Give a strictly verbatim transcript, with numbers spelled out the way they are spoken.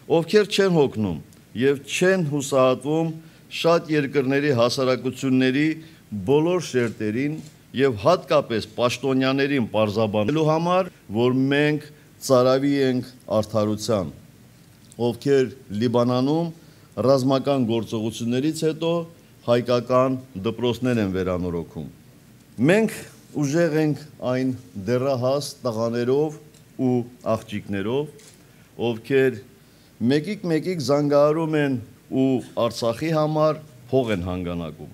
ովքեր չեն հոգնում եւ չեն հուսահատվում շատ երկրների հասարակությունների բոլոր շերտերին եւ հատկապես պաշտոնյաներին պարզաբանելու համար, որ մենք ծարավի ենք արդարության, ովքեր Լիբանանում ռազմական գործողություններից հետո հայկական դպրոցներ են վերանորոգում։ Մենք ուժեղ ենք այն դեռահաս տղաներով ու աղջիկներով, ովքեր մեկիկ-մեկիկ զանգահարում են ու Արցախի համար փող են հանգանակում։